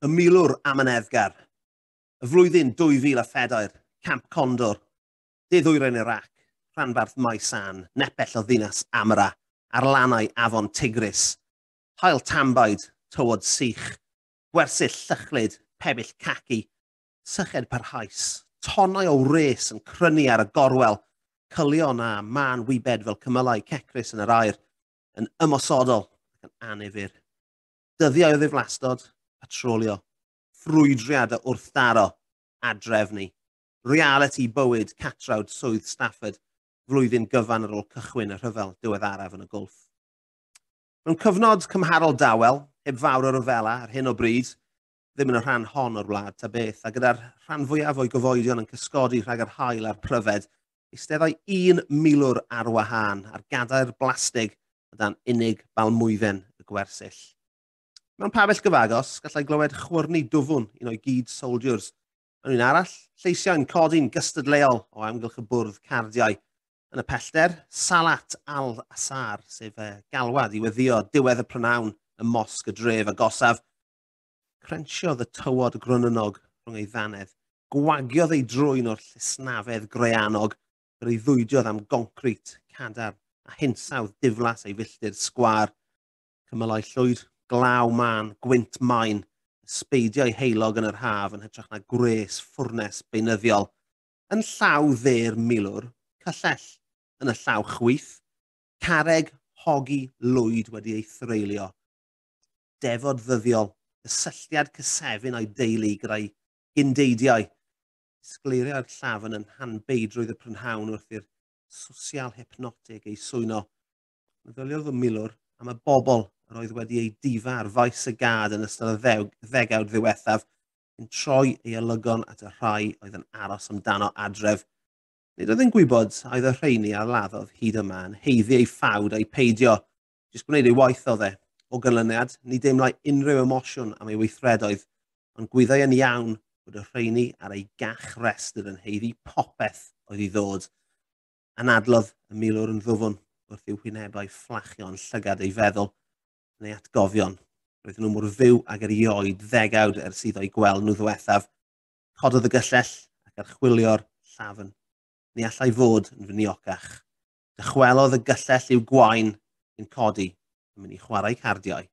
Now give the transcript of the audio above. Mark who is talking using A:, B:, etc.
A: Y milwr amyneddgar. Y flwyddyn 2004, Camp Condor, De Ddwyrain Iraq, rhanbarth Maysan, nepell o ddinas Amara, ar lannau afon Tigris. Haul tanbaid, tywod sych, gwersyll llychlyd, pebyll caci, syched parhaus, tonnau o wres yn crynu ar y gorwel, cylion a mân wybed fel cymylau cecrus yn yr aer, yn ymosodol ac yn annifyr. Dyddiau o ddiflastod, patrolio, ffrwydriad o wrthdaro, adrefnu, realiti bywyd catrawd swydd Stafford, flwyddyn gyfan ar ôl cychwyn y rhyfel diweddaraf yn y Gwlff. Mewn cyfnod cymharol dawel, heb fawr o ryfela ar hyn o bryd, ddim yn y rhan hon o'r wlad ta beth, a gyda'r rhan fwyaf o'i gyfoedion yn cysgodi rhag yr haul a'r pryfed, eisteddai un milwr ar wahân ar gadair blastig o dan unig balmwydden y gwersyll. Mewn pabell gyfagos, gallai glywed chwyrnu dwfwn un o'i gyd soldiers. Mewn un arall, lleisiau'n codi'n gystadleuol o amgylch y bwrdd cardiau. Yn y pellter, Salat al-Asar, sef galwad i weddio diwedd y prynhawn ym mosg y dref agosaf. Crensiodd y tywod gronynnog rhwng ei ddannedd, gwagiodd ei drwyn o'r llysnafedd graeanog, breuddwydiodd am goncrit cadarn a hinsawdd diflas ei filltir sgwâr. Cymylau llwyd, glaw mân, gwynt main, ysbeidiau heulog yn yr haf yn hytrach na gwres ffwrnes beunyddiol. Yn llaw dde'r milwr, cyllell. Yn y llaw chwith, carreg hogi lwyd wedi ei threulio. Defod ddyddiol, cysylltiad cysefin o'i deulu gyda'i gyndeidiau. Disgleiriai'r llafn yn hanbeidrwydd y prynhawn wrth i'r sosial hypnotig ei swyno. Meddyliodd y milwr am y bobl yr oedd wedi ei difa ar faes y gad yn ystod y ddegawd ddiwethaf, yn troi ei olygon at y rhai oedd yn aros amdano adref. Nid oedd yn gwybod a oedd y rheini a laddodd hyd yma yn haeddu ei ffawd a'i peidio. Jyst gwneud ei waith oedd e. O ganlyniad, ni deimlai unrhyw emosiwn am ei weithredoedd, ond gwyddai yn iawn bod y rheini ar ei gach restr yn haeddu popeth oedd i ddod. Anadlodd y milwr yn ddwfwn wrth i'w hwynebau fflachio yn llygad ei feddwl yn ei atgofion. Roedden nhw mor fyw ag erioed ddegawd ers iddo'i gweld nhw ddiwethaf. Cododd y gyllell ac archwilio'r llafn. Ni allai fod yn fyniocach. Dychwelodd y gyllell i'w gwain yn codi yn mynd i chwarae cardiau.